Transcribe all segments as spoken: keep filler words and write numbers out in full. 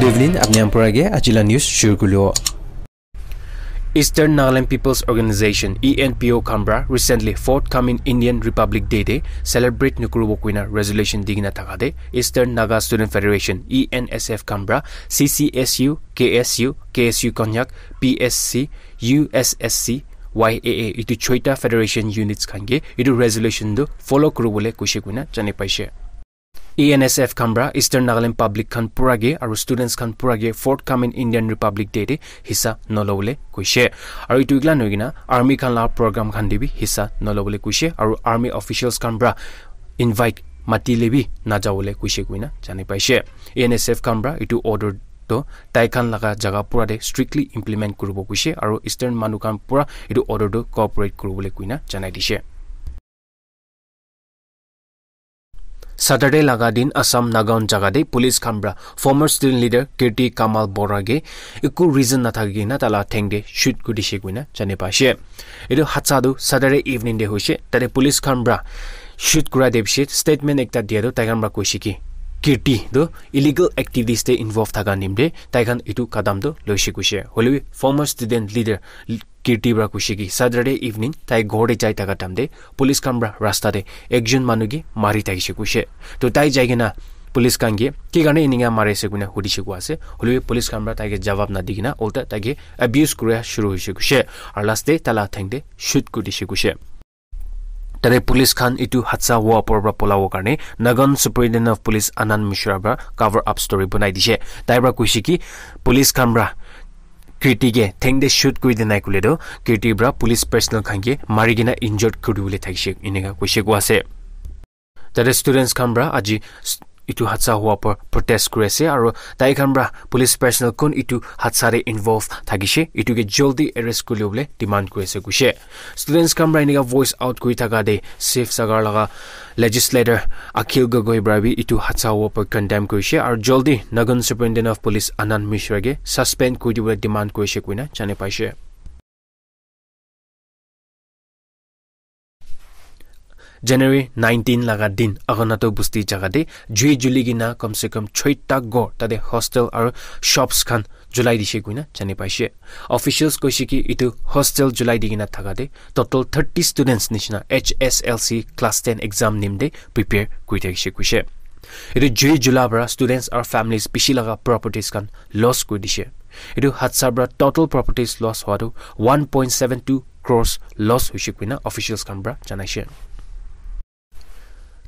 Good evening, apni khan pura ke aji la news shuru kuribo. Eastern Nagaland People's Organization, E N P O khan pra recently forthcoming Indian Republic Day te celebrate nukuribo koina resolution di kena thaka te Eastern Naga Student Federation, E N S F khan pra C C S U, K S U, K S U Konyak, P S C, U S S C, Y A A, itu choita federation units khan ke itu resolution tu follow kuribole koise koina jane paise. E N S F khan pra Eastern Nagaland public khan pura ke aru students khan pura ke forthcoming Indian Republic Day te hissa nolobole koise. Aru itu ikla nohoi kena army khan la program khan te bi hissa nolobole koise. Aru army officials khan pra invite mati le bi najabole koise koina jane paise. E N S F khan pra itu order to tai khan laga jaga pura te strictly implement kuribo koise. Aru Eastern manu khan pura itu order to cooperate kuribole koina janai dise. Saturday laga din Assam Nagaon jaga te police khan pra former student leader Kirti Kamal Bora ke eku reason nathaki kena tala theng te shoot kuri dise koina jane paise. Etu hadsa tu Saturday evening te hoise. Tate police khan pra shoot kura de bishi statement ekta dia tu tai khan pra koise ki Kirti tu illegal activities te involve thaka nimte tai khan etu kadam tu loise koise. Hoilebi former student leader Kirti pra koise ki Saturday evening tai ghor te jai thaka time te police khan pra rasta te ekjon manu ke mari thakise koise. To tai jai kena police khan ke ki karne eninka mari ase koina hudise koa ase. Hoilebi police khan pra tai ke jawab nadi kena ulta tai ke abuse kura shuru hoise koise. Aru last te tala theng te shoot kuri dise koise. Tate police khan etu hadsa howa opor pra polabo karne Nagaon Superintendent of Police Anand Mishra pra cover up story banai dise. Tai pra koise ki police khan pra Kirti ke theng te shoot kuri dinai kule to Kirti pra police personnel khan ke mari kena injured kuri dibole thakise eninka koise koa ase. Tate students khan pra aji s- etu hadsa howa pra protest kuri ase aru tai khan pra police personnel kun etu hadsa te involve thakise etu ke jaldi arrest kuri bole demand kuri ase koise. Students khan pra eninka voice out kuri thaka te Safe Sagar laga legislator Akhil Gogoi pra bi etu hadsa howa pra condemn kurise aru jaldi Nagaon Superintendent of Police Anand Mishra ke suspend kuri dibole demand kurise koina jane paise. January nineteen laga din Agonato Busti jaga te jui juli kena kam se kam choita ghor tate hostel aru shops khan julai dise koina jane paise. Officials koise ki etu hostel julai di kena thaka te total thirty students nishina H S L C class ten exam nimte prepare kuri thakise koise. Etu jui jula para students aru families bishi laga properties khan loss kuri dise. Etu hadsa para total properties loss howa tu one point seven two crores loss hoise koina officials khan para janaise.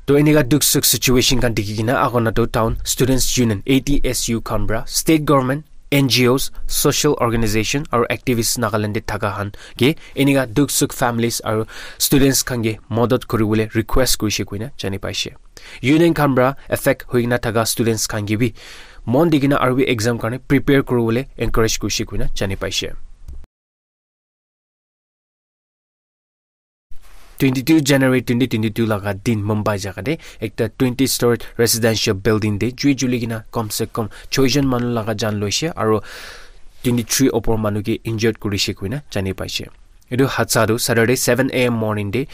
To enika dukh sukh situation khan dikhi kena Agonato Town Students Union, A T S U, khan para state government, N G Os, social organization aru activists Nagaland te thaka khan ke enika dukh sukh families aru students khan ke madad kuri bole request kurise koina jani paise. Union khan para affect hoi kena thaka students khan ke bi mon di kena aru bi exam karne prepare kuri bole encourage kurise koina jani paise. Twenty two January twenty twenty two laga din Mumbai jaga te ekta twenty story residential building te jui juli kena kam se kam choi jon manu laga jan loise aru twenty three opor manu ke injured kurise koina jani paise. Etu hadsa tu Saturday seven A M morning te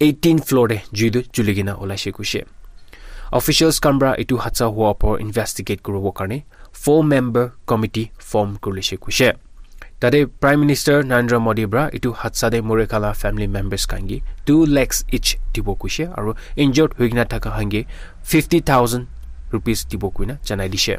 eighteen floor te jui tu juli kena olaise koise. Officials khan para etu hadsa howa opor investigate kuribo karne four member committee form kurise koise. Tate Prime Minister Narendra Modi para etu hadsa te mori khala family members khan ke two lakhs each dibo koise aru injured hoi kena thaka khan ke fifty thousand rupees dibo koina janai dise.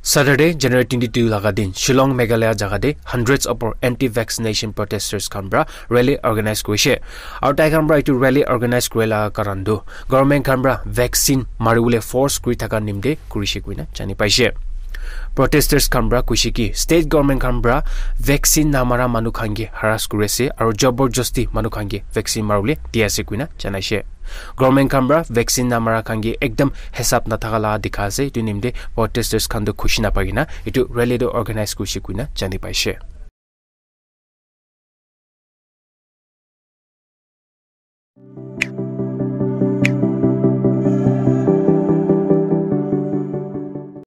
Saturday, January twenty two laga din, Shillong, Meghalaya jaga te hundreds of anti-vaccination protesters khan para rally organize kurise. Aru tai khan para etu rally organize kuri laga karan tu government khan para vaccine mari bole force kuri thaka nimte kurise koina jani paise. Protesters khan para koise ki state government khan para vaccine namara manu khan ke harass kuri ase aru jabardasti manu khan ke vaccine mari bole di ase koina janaise. Government khan para vaccine namara khan ke ekdam hisab nathaka laga dikha ase. Etu nimte protesters khan tu khushi napai kena etu rally tu organize kurise koina jani paise.